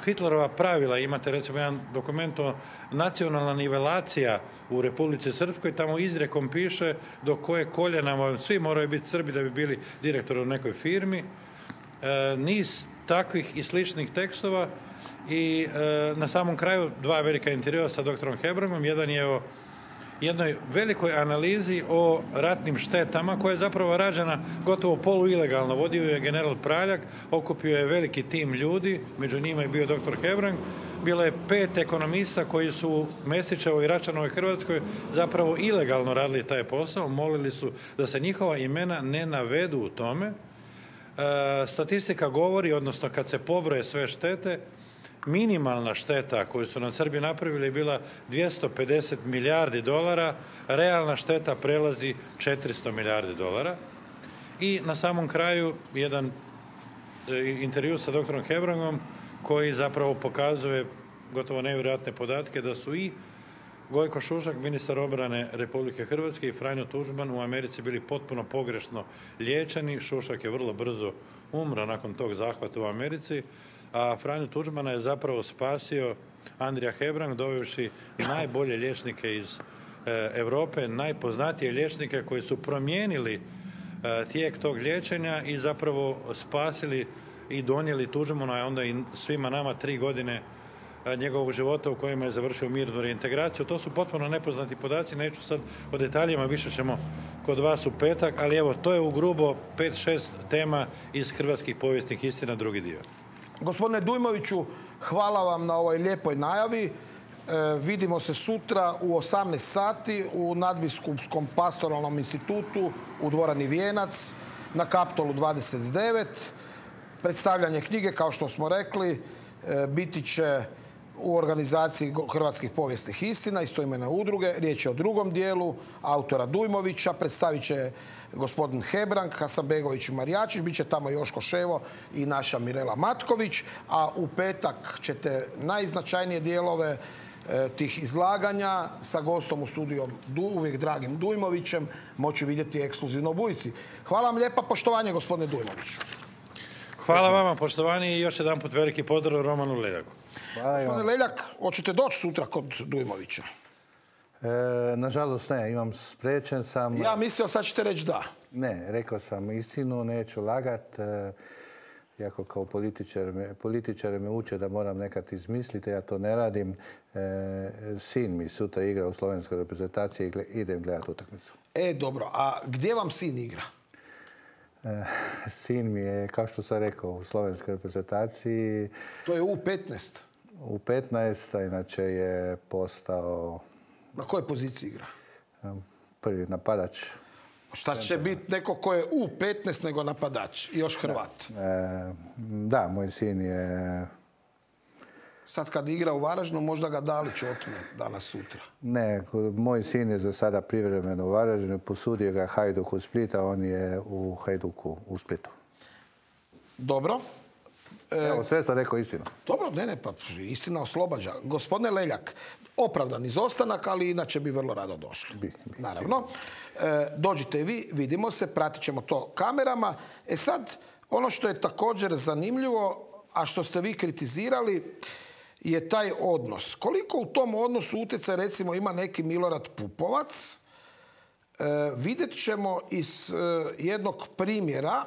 Hitlerova pravila. Imate recimo jedan dokument o nacionalna nivelacija u Republici Srpskoj, tamo izrekom piše do koje koljena svi moraju biti Srbi da bi bili direktori u nekoj firmi. Niz takvih i sličnih tekstova i na samom kraju 2 velika intervjua sa doktorom Hebrangom. Jedan je o jednoj velikoj analizi o ratnim štetama koja je zapravo rađena gotovo poluilegalno. Vodio je general Praljak, okupio je veliki tim ljudi, među njima je bio dr. Hebrang. Bilo je 5 ekonomista koji su u Mesićevoj i Račanovoj Hrvatskoj zapravo ilegalno radili taj posao. Molili su da se njihova imena ne navedu u tome. Statistika govori, odnosno kad se pobroje sve štete, minimalna šteta koju su nam Srbi napravili je bila 250 milijardi dolara, realna šteta prelazi 400 milijardi dolara. I na samom kraju jedan intervju sa doktorom Hebrangom koji zapravo pokazuje gotovo nevjerojatne podatke da su i Gojko Šušak, ministar obrane Republike Hrvatske, i Franjo Tuđman u Americi bili potpuno pogrešno liječeni. Šušak je vrlo brzo umro nakon tog zahvata u Americi, a Franjo Tuđmana je zapravo spasio Andrija Hebrang, dovevši najbolje liječnike iz Europe, najpoznatije liječnike koji su promijenili tijek tog liječenja i zapravo spasili i donijeli Tuđmana, a onda i svima nama 3 godine njegovog života u kojima je završio mirnu reintegraciju. To su potpuno nepoznati podaci, neću sad o detaljima, više ćemo kod vas u petak, ali evo, to je u grubo 5-6 tema iz hrvatskih povijesnih istina, drugi dio. Gospodine Dujmoviću, hvala vam na ovoj lijepoj najavi. Vidimo se sutra u 18 sati u Nadbiskupskom pastoralnom institutu u dvorani Vijenac na Kaptolu 29. Predstavljanje knjige, kao što smo rekli, biti će u organizaciji Hrvatskih povijesnih istina, istoimene udruge. Riječ je o drugom dijelu autora Dujmovića. Predstavit će gospodin Hebrang, Hasanbegović i Marijačić. Biće tamo Joško Ševo i naša Mirela Matković. A u petak ćete najznačajnije dijelove tih izlaganja sa gostom u studiju, uvijek dragim Dujmovićem, moći vidjeti ekskluzivno u Bujici. Hvala vam lijepa, poštovanje gospodine Dujmoviću. Hvala vama, poštovanje, i još jedan put veliki pozdrav Romanu Leljaku. Gospodine Leljak, hoćete doći sutra kod Dujmovića? Nažalost ne, imam spriječen sam. Ja mislio sad ćete reći da. Ne, rekao sam istinu, neću lagat. Iako kao političar me uče da moram nekad izmisliti, ja to ne radim. Sin mi sutra igra u slovenskoj reprezentaciji i idem gledati utakmicu. Dobro, a gdje vam sin igra? Sin mi je, kao što sam rekao, u slovenskoj reprezentaciji. To je U15? U15, a inače je postao... Na kojoj poziciji igra? Prvi napadač. Šta će biti neko ko je U15 nego napadač i još Hrvat? Da, moj sin je... Sad kad igra u Varaždinu, možda ga Dalić otme danas sutra. Ne, moj sin je za sada privremeno u Varaždinu, posudio ga Hajduk u Split, a on je u Hajduku u Splitu. Dobro. Evo, sve sam rekao istinu. Dobro, ne, pa istina oslobađa. Gospodine Leljak, opravdan izostanak, ali inače bi vrlo rado došli. Naravno. Dođite i vi, vidimo se, pratit ćemo to kamerama. Sad, ono što je također zanimljivo, a što ste vi kritizirali, je taj odnos. Koliko u tom odnosu utjecaj, recimo, ima neki Milorad Pupovac, vidjet ćemo iz jednog primjera,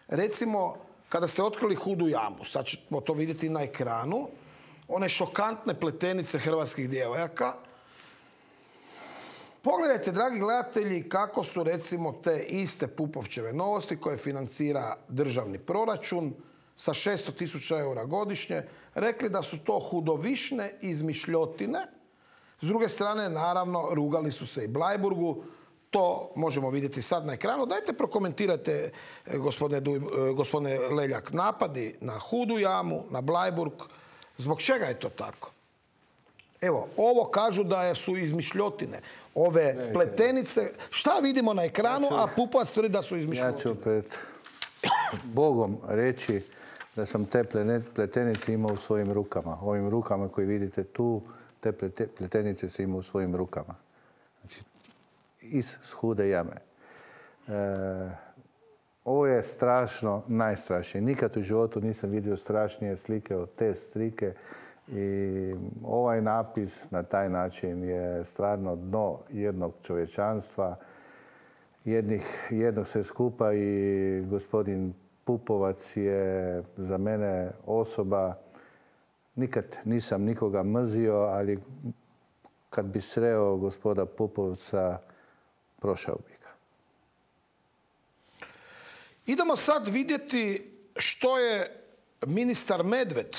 recimo, kada ste otkrili Hudu jamu, sad ćemo to vidjeti na ekranu, one šokantne pletenice hrvatskih djevojaka. Pogledajte, dragi gledatelji, kako su, recimo, te iste Pupovčeve Novosti koje financira državni proračun sa 600.000 eura godišnje, rekli da su to hudovišne izmišljotine. S druge strane, naravno, rugali su se i Bleiburgu. To možemo vidjeti sad na ekranu. Dajte prokomentirajte, gospodine Leljak, napadi na Hudu jamu, na Bleiburg. Zbog čega je to tako? Evo, ovo kažu da su izmišljotine. Ove pletenice, šta vidimo na ekranu, a Pupovac tvrdi da su izmišljotine? Ja ću pred Bogom reći da sam te pletenice imao u svojim rukama. Ovim rukama koje vidite tu, te pletenice se imao u svojim rukama. Znači, iz Hude jame. Ovo je strašno, najstrašnije. Nikad u životu nisam vidio strašnije slike od te slike. I ovaj napis na taj način je stvarno dno jednog čovječanstva, jednog sve skupa, i gospodin Pupovac je za mene osoba, nikad nisam nikoga mrzio, ali kad bi sreo gospoda Pupovca, prošao bi ga. Idemo sad vidjeti što je ministar Medved,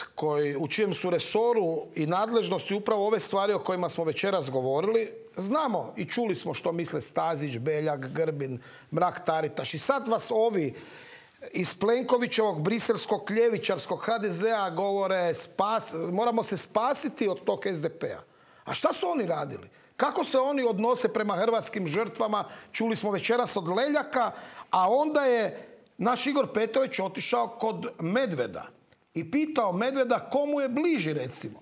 u čijem su resoru i nadležnosti upravo ove stvari o kojima smo večeras govorili. Znamo i čuli smo što misle Stazić, Beljak, Grbin, Mrak-Taritaš. I sad vas ovi iz Plenkovićevog briselskog ljevičarskog HDZ-a govore moramo se spasiti od tog SDP-a. A šta su oni radili? Kako se oni odnose prema hrvatskim žrtvama? Čuli smo večeras od Leljaka, a onda je naš Igor Petrović otišao kod Medveda i pitao Medveda komu je bliži, recimo.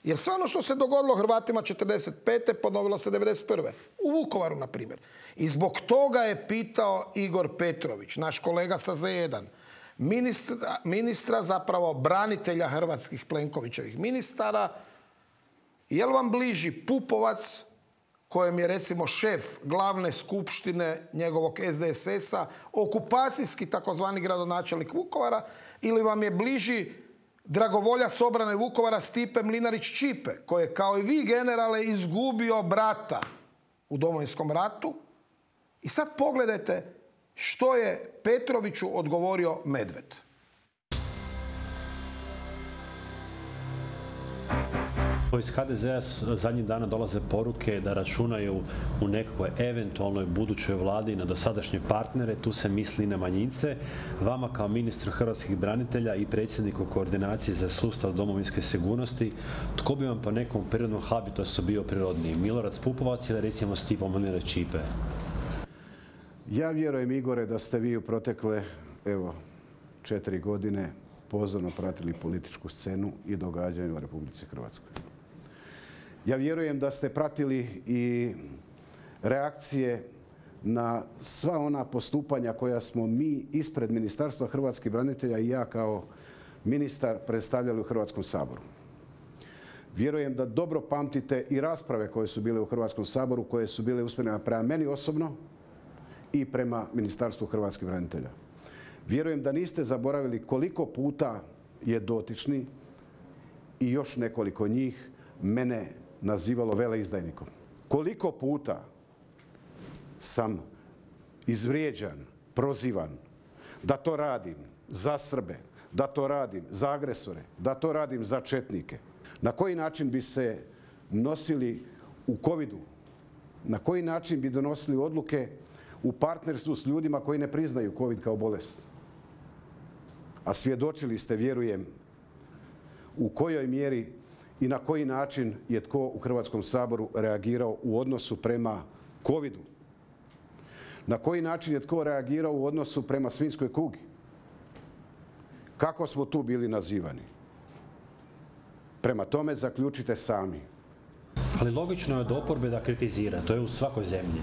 Jer sve ono što se dogodilo Hrvatima 1945. ponovilo se 1991. U Vukovaru, na primjer. I zbog toga je pitao Igor Petrović, naš kolega sa Z1, ministra, zapravo branitelja hrvatskih Plenkovićevih ministara, je li vam bliži Pupovac, kojem je recimo šef glavne skupštine njegovog SDSS-a, okupacijski takozvani gradonačelnik Vukovara, ili vam je bliži dragovoljac obrane Vukovara Stipe Mlinarić-Ćipe, koji je kao i vi, generale, izgubio brata u Domovinskom ratu. I sad pogledajte što je Petroviću odgovorio Medved. Iz HDZ-a zadnjih dana dolaze poruke da računaju u nekakvoj eventualnoj budućoj vladi na dosadašnje partnere, tu se misli na manjince. Vama kao ministru hrvatskih branitelja i predsjedniku koordinacije za sustav domovinske sigurnosti, tko bi vam po nekom prirodnom habitusu bio prirodniji? Milorad Pupovac ili recimo Stipo Mlinarić-Ćipe? Ja vjerujem, Igore, da ste vi u protekle 4 godine pozorno pratili političku scenu i događanja u Republici Hrvatskoj. Ja vjerujem da ste pratili i reakcije na sva ona postupanja koja smo mi ispred Ministarstva hrvatskih branitelja i ja kao ministar predstavljali u Hrvatskom saboru. Vjerujem da dobro pamtite i rasprave koje su bile u Hrvatskom saboru, koje su bile usmjerene prema meni osobno i prema Ministarstvu hrvatskih branitelja. Vjerujem da niste zaboravili koliko puta je dotični i još nekoliko njih mene nazivalo veleizdajnikom. Koliko puta sam izvrijeđan, prozivan da to radim za Srbe, da to radim za agresore, da to radim za četnike. Na koji način bi se nosili u covidu, na koji način bi donosili odluke u partnerstvu s ljudima koji ne priznaju covid kao bolest. A svjedočili ste, vjerujem, u kojoj mjeri i na koji način je tko u Hrvatskom saboru reagirao u odnosu prema covidu. Na koji način je tko reagirao u odnosu prema svinjskoj kugi. Kako smo tu bili nazivani. Prema tome zaključite sami. Ali logično je od oporbe da kritizira, to je u svakoj zemlji.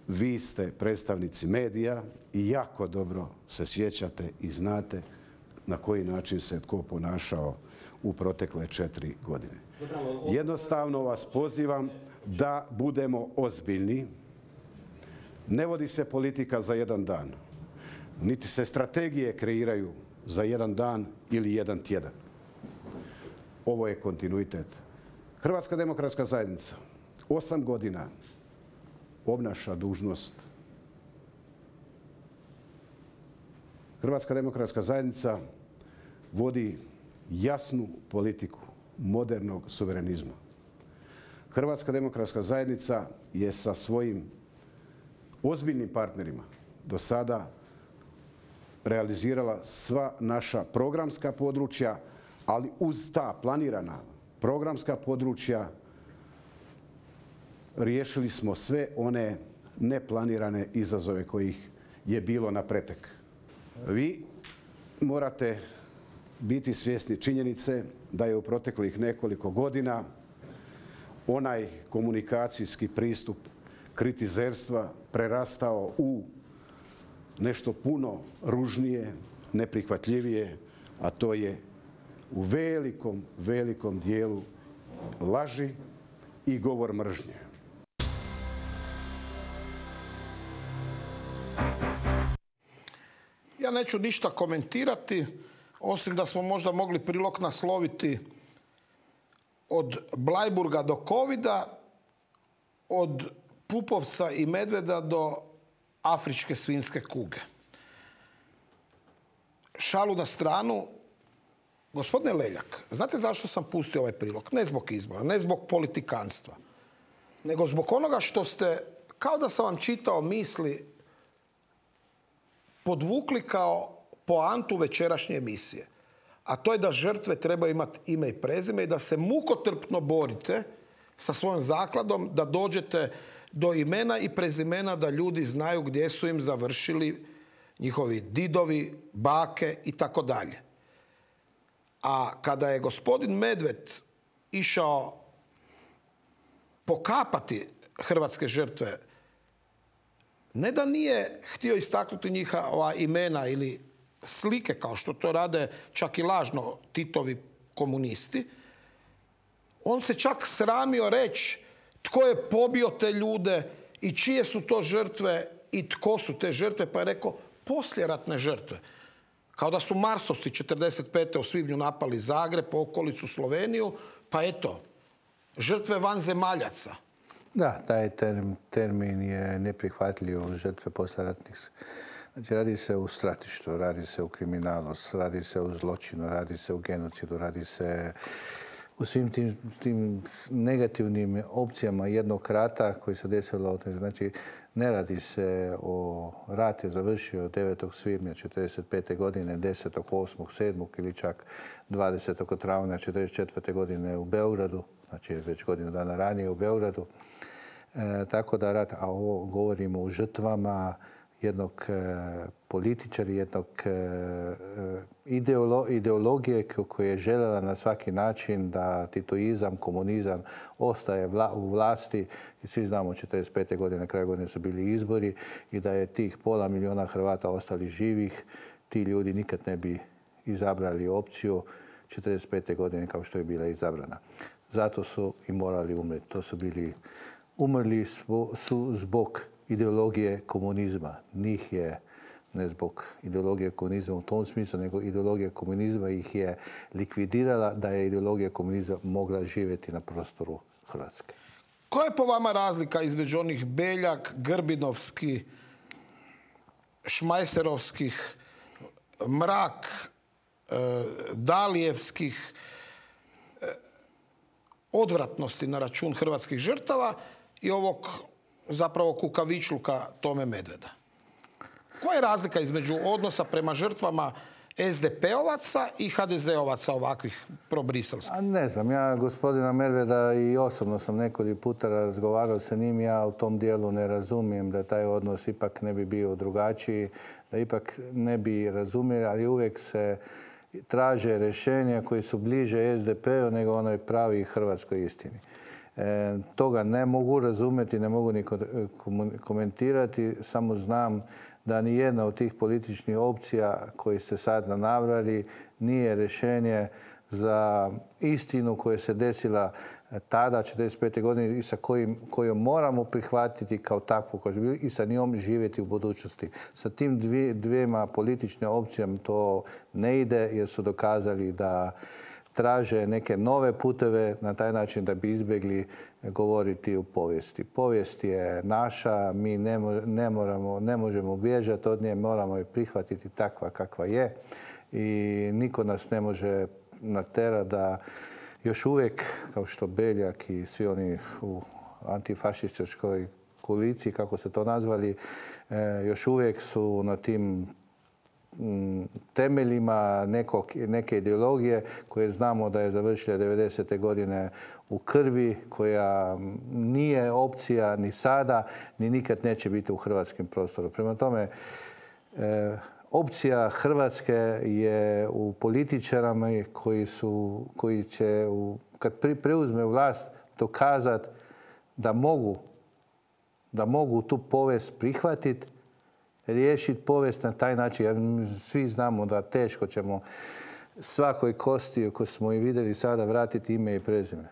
Vi ste predstavnici medija i jako dobro se sjećate i znate na koji način se tko ponašao u protekle 4 godine. Jednostavno vas pozivam da budemo ozbiljni. Ne vodi se politika za jedan dan. Niti se strategije kreiraju za jedan dan ili jedan tjedan. Ovo je kontinuitet. Hrvatska demokratska zajednica 8 godina obnaša dužnost. Hrvatska demokratska zajednica vodi jasnu politiku modernog suverenizma. Hrvatska demokratska zajednica je sa svojim ozbiljnim partnerima do sada realizirala sva naša programska područja, ali uz ta planirana programska područja riješili smo sve one neplanirane izazove kojih je bilo na pretek. Vi morate biti svjesni činjenice da je u proteklih nekoliko godina onaj komunikacijski pristup kritizerstva prerastao u nešto puno ružnije, neprihvatljivije, a to je u velikom dijelu laži i govor mržnje. Ja neću ništa komentirati, osim da smo možda mogli prilog nasloviti od Blajburga do Covida, od Pupovca i Medveda do afričke svinjske kuge. Šalu na stranu, gospodine Leljak, znate zašto sam pustio ovaj prilog? Ne zbog izbora, ne zbog politikanstva, nego zbog onoga što ste, kao da sam vam čitao misli, podvukli kao poantu večerašnje emisije. A to je da žrtve trebaju imati ime i prezime i da se mukotrpno borite sa svojom zakladom, da dođete do imena i prezimena, da ljudi znaju gdje su im završili njihovi didovi, bake i tako dalje. A kada je gospodin Medved išao pokapati hrvatske žrtve, ne da nije htio istaknuti njihova imena ili slike, kao što to rade čak i lažno Titovi komunisti, on se čak sramio reći tko je pobio te ljude i čije su to žrtve i tko su te žrtve, pa je rekao poslijeratne žrtve. Kao da su Marsovci 1945. u svibnju napali Zagreb, okolicu, Sloveniju, pa eto, žrtve vanzemaljaca. Da, taj termin je neprihvatljiv, žrtve poslijeratnih. Znači, radi se o stratištvu, radi se o kriminalu, radi se o zločinu, radi se o genocidu, radi se u svim tim negativnim opcijama jednog rata koji se desilo. Znači, ne radi se o rat je završio 9. svibnja 1945. godine, 10., 8., 7. ili čak 20. travnja 1944. godine u Beogradu, znači već godinu dana ranije u Beogradu. Tako da rat, a ovo govorimo o žrtvama jednog političara, jednog ideologije koja je željela na svaki način da titoizam, komunizam ostaje u vlasti. I svi znamo 1945. godine, na kraju godine su bili izbori i da je tih 500.000 Hrvata ostali živih, ti ljudi nikad ne bi izabrali opciju 1945. godine kao što je bila izabrana. Zato su i morali umreti. To su bili umrli su zbog ideologije komunizma. Njih je, ne zbog ideologije komunizma u tom smislu, nego ideologija komunizma ih je likvidirala da je ideologija komunizma mogla živjeti na prostoru Hrvatske. Koja je po vama razlika između onih Beljak, Grbinovski, Šmajserovskih, Mrak, Dalijevskih odvratnosti na račun hrvatskih žrtava i ovog zapravo kukavičluka Tome Medveda? Koja je razlika između odnosa prema žrtvama SDP-ovaca i HDZ-ovaca ovakvih probriselskih? Ne znam, ja gospodina Medveda i osobno sam nekoliko puta razgovarao sa njim, ja u tom dijelu ne razumijem da taj odnos ipak ne bi bio drugačiji, da ipak ne bi razumjeli, ali uvijek se traže rješenja koji su bliže SDP-u nego onoj pravi hrvatskoj istini. Toga ne mogu razumjeti, ne mogu ni komentirati, samo znam da ni jedna od tih političkih opcija koji ste sad nabrali nije rješenje za istinu koja se desila tada, 1945. godine, i sa kojom moramo prihvatiti kao takvu i sa njom živjeti u budućnosti. Sa tim dvijema političnim opcijama to ne ide jer su dokazali da traže neke nove puteve na taj način da bi izbjegli govoriti o povijesti. Povijest je naša, mi ne možemo bježati od nje, moramo je prihvatiti takva kakva je i niko nas ne može natjerati da još uvijek, kao što Beljak i svi oni u antifašističkoj koaliciji, kako se to nazvali, još uvijek su na tim temeljima neke ideologije koje znamo da je završila 90. godine u krvi, koja nije opcija ni sada, ni nikad neće biti u hrvatskim prostoru. Prema tome, opcija Hrvatske je u političarama koji će, kad preuzme vlast, dokazati da mogu tu povijest prihvatiti, riješiti povijest na taj način. Jer svi znamo da teško ćemo svakoj kosti koju smo i vidjeli sada vratiti ime i prezime.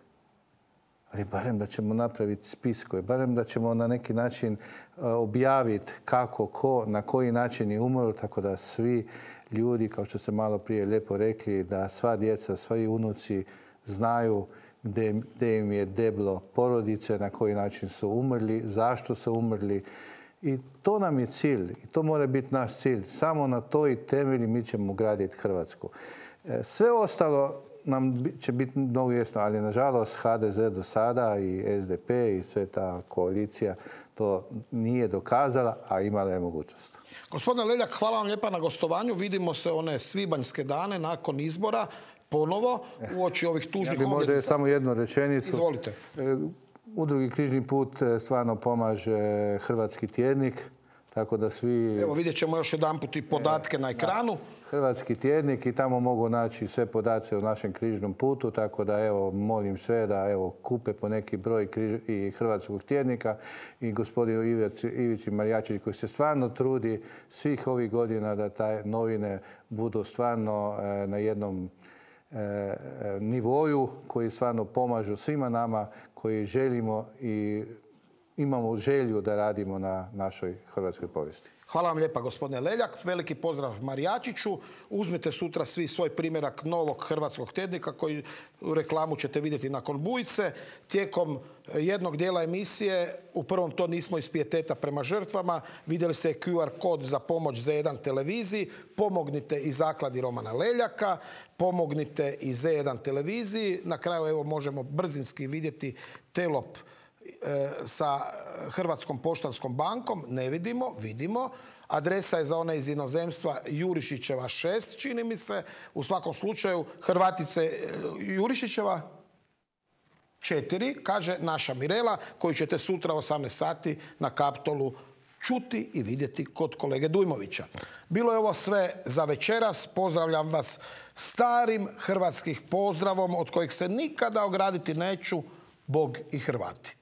Ali barem da ćemo napraviti spiskove, barem da ćemo na neki način objaviti kako, ko, na koji način je umro, tako da svi ljudi, kao što ste malo prije lijepo rekli, da sva djeca, svi unuci znaju gdje im je deblo porodice, na koji način su umrli, zašto su umrli. I to nam je cilj. I to mora biti naš cilj. Samo na toj temelji mi ćemo graditi Hrvatsku. Sve ostalo nam će biti mnogo jasno, ali nažalost HDZ do sada i SDP i sve ta koalicija to nije dokazala, a imala je mogućnost. Gospodine Leljak, hvala vam lijepa na gostovanju. Vidimo se one svibanjske dane nakon izbora ponovo uoči ovih tužnih obljetnica. Ja bih možda samo jednu rečenicu. Izvolite. Udrugi Križni put stvarno pomaže Hrvatski tjednik, tako da svi... Evo vidjet ćemo još jedanput i podatke na ekranu. Hrvatski tjednik i tamo mogu naći sve podatke o našem križnom putu, tako da evo molim sve da evo kupe po neki broj i Hrvatskog tjednika i gospodinu Ivici Marijačić koji se stvarno trudi svih ovih godina da taj novine budu stvarno na jednom nivoju koji stvarno pomažu svima nama koji želimo i imamo želju da radimo na našoj hrvatskoj povijesti. Hvala vam lijepa, gospodine Leljak. Veliki pozdrav Marijačiću. Uzmite sutra svi svoj primjerak novog Hrvatskog tjednika koji u reklamu ćete vidjeti nakon Bujice. Tijekom jednog dijela emisije, u prvom to nismo iz pijeteta prema žrtvama, vidjeli se QR kod za pomoć Z1 televiziji. Pomognite i zakladi Romana Leljaka, pomognite i Z1 televiziji. Na kraju evo možemo brzinski vidjeti telop sa Hrvatskom poštanskom bankom, ne vidimo. Adresa je za one iz inozemstva Jurišićeva 6, čini mi se. U svakom slučaju, Hrvatice Jurišićeva 4, kaže naša Mirela, koju ćete sutra u 18 sati na Kaptolu čuti i vidjeti kod kolege Dujmovića. Bilo je ovo sve za večeras. Pozdravljam vas starim hrvatskih pozdravom od kojeg se nikada ograditi neću. Bog i Hrvati.